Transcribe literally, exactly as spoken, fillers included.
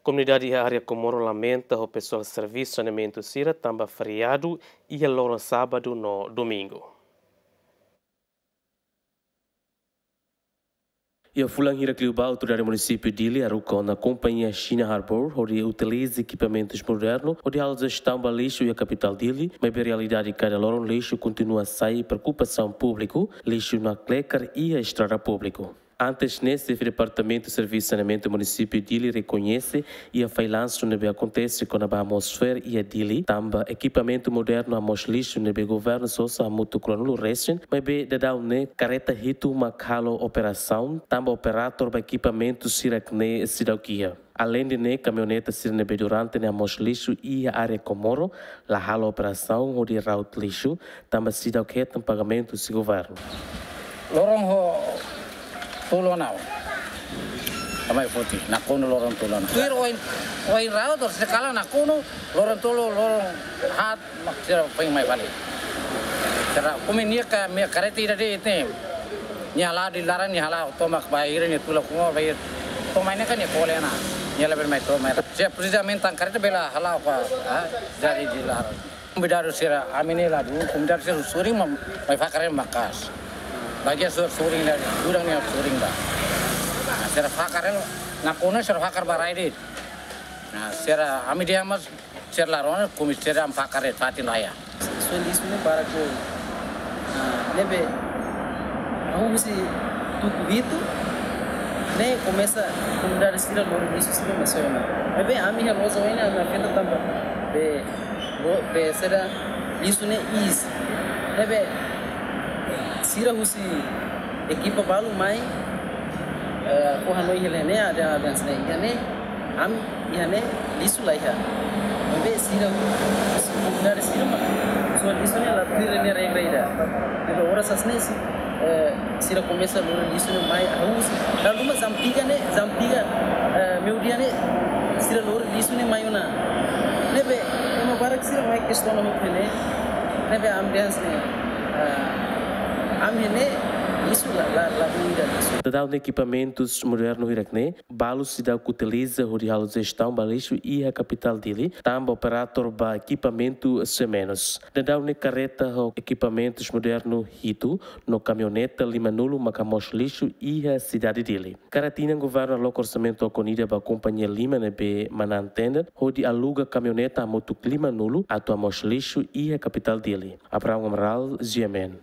Komunidade iha área Comoro lamenta ho pesoál servisu saneamentu sira tanba feriadu iha loron sábadu no domingu. Iha fulan hirak liubá, autoridade munisípiu Dili haruka ona kompañia China Harbour hodi utiliza ekipamentus modernu hodi halo jestaun ba lixu iha kapitál Dili, maibé realidade kada loron lixu kontinua sai, preokupasaun públiku, lixu nakleker iha estrada públiku. Antes ne'e, xefe Departamentu Servisu Saneamentu Munisípiu Dili rekoñese iha fallansu ne'ebé akontese kona-ba hamoos fo'er iha Dili, tanba ekipamentu modernu hamoos lixu ne'ebé governu sosa hamutuk ruanulu resin, maibé daudaun ne'e kareta hitu mak halo operasaun, tanba operatór ba ekipamentu sira-ne'e seidauk iha. Aleinde ne'e, kamioneta sira ne'ebé durante ne'e hamoos lixu iha área Comoro la halo operasaun hodi ra'ut lixu, tanba seidauk hetan pagamentu husi governu. Loron ho tolu ona. Amai foti, nakonu loron tolu ona. Tuir oin, oin ra'ut, tor sekala nakonu, loron tolu, loron haat, mak sira foin mai fali. Sira kumi nia ka, nia kareta ida de'it ne'e. Nia hala'o di laran, nia hala'o tomak bainhira, nia tula kuma bainhira. Tomak ne'e kan nia kole ona. Nia labele mai tomak. Sira presiza mentan kareta bele hala'o ka, ah, jadi di laran. Komunidade sira ami ne'e la dún, komunidade sira sorin ma, mai fakar hela maka'as. Bagian sira sorin la, gudang ne'e sorin ba. Nah, sira fakar hela, nakonu sira fakar ba rai de'it. Nah, sira ami dehan mós sira la rona, kumi sira ami fakar de'it fatin laiha. Soal lixu ne'e barak liu. Ah, ne'ebé, ha'u husi tuku hitu, ne'e komesa komunidade sira lori lixu sira mai soe ona. Ne'ebé ami iha loja oin ne'e ami afeta tanba be, be sira lixu ne'e iis. Ne'ebé, sira husi ekipa balu mai, eh, ha'u hanoin hela ne'e, ada, ada sira iha ne'e, ami iha ne'e lixu laiha. Maibé sira, komunidade sira mak, soal lixu ne'e la tuir nia regra ida. Ne'ebé oras hanesan ne'e, eh, sira komesa lori lixu ne'e mai, ha'u husi. Lalu mak jam tiga ne'e, jam tiga, eh, meiudia ne'e, sira lori lixu ne'e mai ona. Ne'ebé, ema barak sira mai kestiona hotu ne'e. Ne'ebé ami dehan hanesan ne'e, eh, ami ne'e lixu la, la, la tuir ida lixu. Daudaun ekipamentus modernu hirak-ne'e, balu seidauk utiliza hodi halo jestaun ba lixu iha kapitál Dili, tanba operatór ba ekipamentu sei menus. Daudaun ne'e kareta ho ekipamentus modernu hitu, no kamioneta limanulu mak hamoos lixu iha sidade Dili. Kada tinan governu aloka orsamentu okon ida ba kompañia lima ne'ebé manán tender, hodi aluga kamioneta hamutuk limanulu atu hamoos lixu iha kapitál Dili. Abraham Amaral, G M N.